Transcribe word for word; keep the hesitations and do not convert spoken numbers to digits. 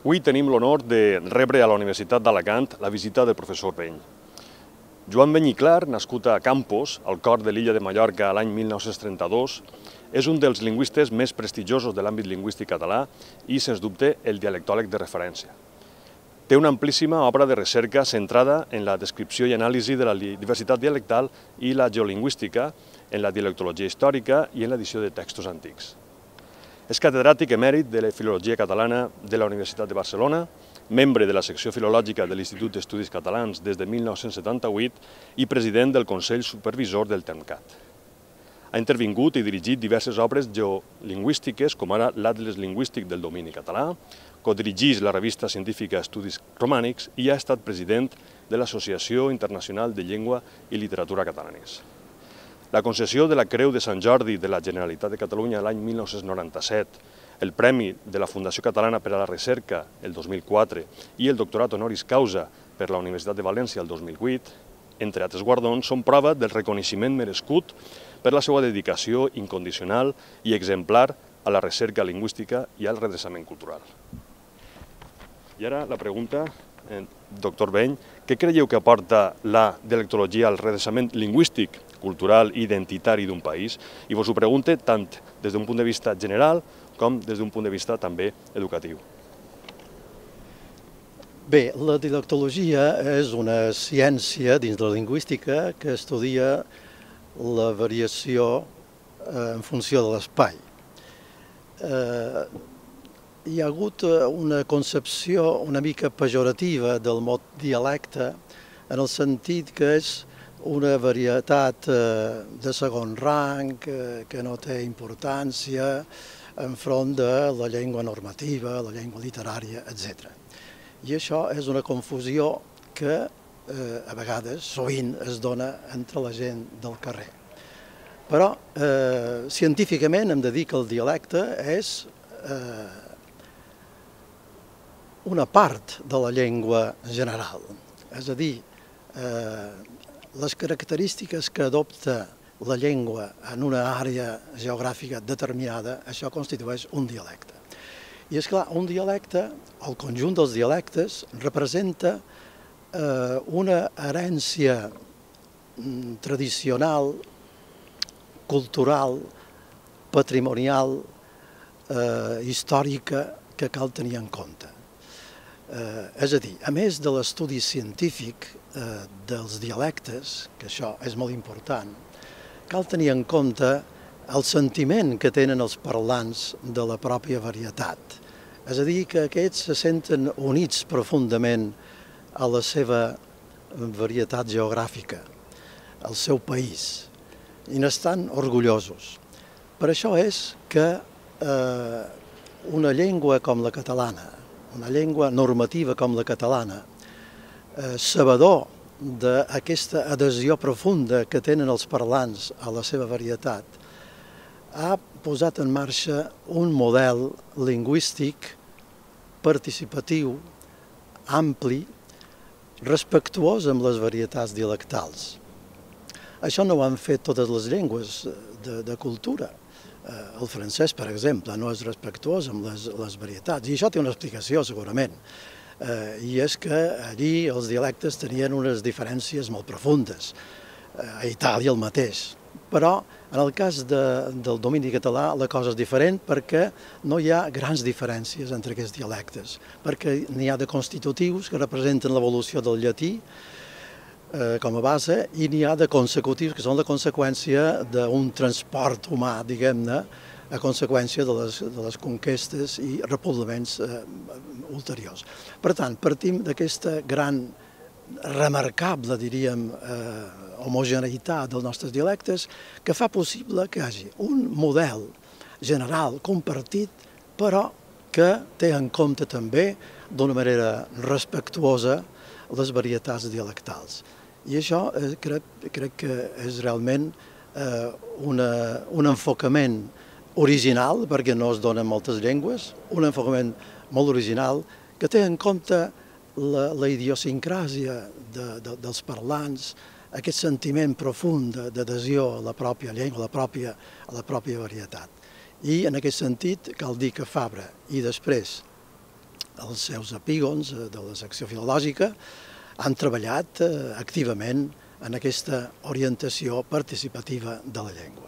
Avui tenim l'honor de rebre a la Universitat d'Alacant la visita del professor Beny. Joan Beny i Clar, nascut a Campos, al cor de l'illa de Mallorca l'any mil nou-cents trenta-dos, és un dels lingüistes més prestigiosos de l'àmbit lingüístic català i, sens dubte, el dialectòleg de referència. Té una amplíssima obra de recerca centrada en la descripció i anàlisi de la diversitat dialectal i la geolingüística, en la dialectologia històrica i en l'edició de textos antics. És catedràtic emèrit de la Filologia Catalana de la Universitat de Barcelona, membre de la secció filològica de l'Institut d'Estudis Catalans des de mil nou-cents setanta-vuit i president del Consell Supervisor del TEMCAT. Ha intervingut i dirigit diverses obres geolingüístiques, com ara l'Atles Lingüístic del Domini Català, codirigeix la revista científica Estudis Romànics i ha estat president de l'Associació Internacional de Llengua i Literatura Catalanes. La concessió de la Creu de Sant Jordi de la Generalitat de Catalunya l'any mil nou-cents noranta-set, el Premi de la Fundació Catalana per a la Recerca el dos mil quatre i el Doctorat Honoris Causa per la Universitat de València el dos mil vuit, entre altres guardons, són prova del reconeixement merescut per la seva dedicació incondicional i exemplar a la recerca lingüística i al redreçament cultural. I ara la pregunta, doctor Beny, què creieu que aporta la dialectologia al redreçament lingüístic, cultural i identitari d'un país? I vos ho pregunte tant des d'un punt de vista general com des d'un punt de vista també educatiu. Bé, la dialectologia és una ciència dins de la lingüística que estudia la variació en funció de l'espai. Hi ha hagut una concepció una mica pejorativa del mot dialecte en el sentit que és una varietat de segon rang, que no té importància enfront de la llengua normativa, la llengua literària, etcètera. I això és una confusió que a vegades, sovint, es dona entre la gent del carrer. Però científicament hem de dir que el dialecte és una part de la llengua general, és a dir, les característiques que adopta la llengua en una àrea geogràfica determinada, això constitueix un dialecte. I és clar, un dialecte, el conjunt dels dialectes, representa una herència tradicional, cultural, patrimonial, històrica, que cal tenir en compte. És a dir, a més de l'estudi científic dels dialectes, que això és molt important, cal tenir en compte el sentiment que tenen els parlants de la pròpia varietat. És a dir, que aquests se senten units profundament a la seva varietat geogràfica, al seu país, i n'estan orgullosos. Per això és que una llengua com la catalana, una llengua normativa com la catalana, sabedor d'aquesta adhesió profunda que tenen els parlants a la seva varietat, ha posat en marxa un model lingüístic participatiu, ampli, respectuós amb les varietats dialectals. Això no ho han fet totes les llengües de cultura. El francès, per exemple, no és respectuós amb les varietats, i això té una explicació, segurament, i és que allí els dialectes tenien unes diferències molt profundes, a Itàlia el mateix, però en el cas del domini català la cosa és diferent perquè no hi ha grans diferències entre aquests dialectes, perquè n'hi ha de constitutius que representen l'evolució del llatí, com a base, i n'hi ha de consecutius, que són la conseqüència d'un transport humà, diguem-ne, a conseqüència de les conquestes i repoblaments ulteriors. Per tant, partim d'aquesta gran, remarcable, diríem, homogeneïtat dels nostres dialectes, que fa possible que hi hagi un model general compartit, però que té en compte també, d'una manera respectuosa, les varietats dialectals. I això crec que és realment un enfocament original, perquè no es dona en moltes llengües, un enfocament molt original que té en compte la idiosincràsia dels parlants, aquest sentiment profund d'adhesió a la pròpia llengua, a la pròpia varietat. I en aquest sentit cal dir que Fabra i després els seus epígons de la secció filològica, han treballat activament en aquesta orientació participativa de la llengua.